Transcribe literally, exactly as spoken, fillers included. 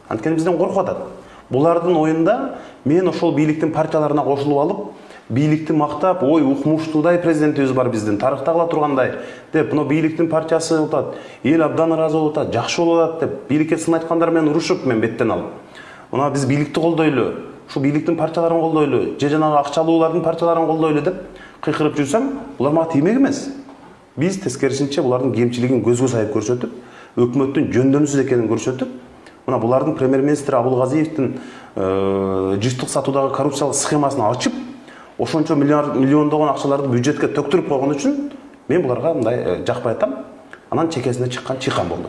Анткени бизден коркуп атат. Булардын оюнда мен ошол бийликтин партияларына кошулуп алып, бийликти мактап, ой укмуштуудай президентибиз бар биздин, тарыхта кала тургандай деп, мына бийликтин партиясы болуп атат, эл абдан ыраазы болуп атат, жакшы болуп атат деп, бийликке сын айткандар менен урушуп мен беттен алып. Мына биз бийликти колдойлу, ушу бийликтин партияларын колдойлу, же жанагы акчалуулардын партияларын колдойлу деп кыйкырып жүрсөм, булар мага тиймек эмес. Биз тескерисинче булардын кемчилигин көзгө сайып көрсөтүп, өкмөттүн жөндөмсүз экенин көрсөтүп, мына булардын премьер-министр Абылгазиевдин жыштык сатуудагы коррупциялык схемасын ачып, ошончо миллиондогон акчаларды бюджетке төктүрүп койгон үчүн мен буларга мындай жакпай атам. Анан чекесине чыккан чыйкан болду.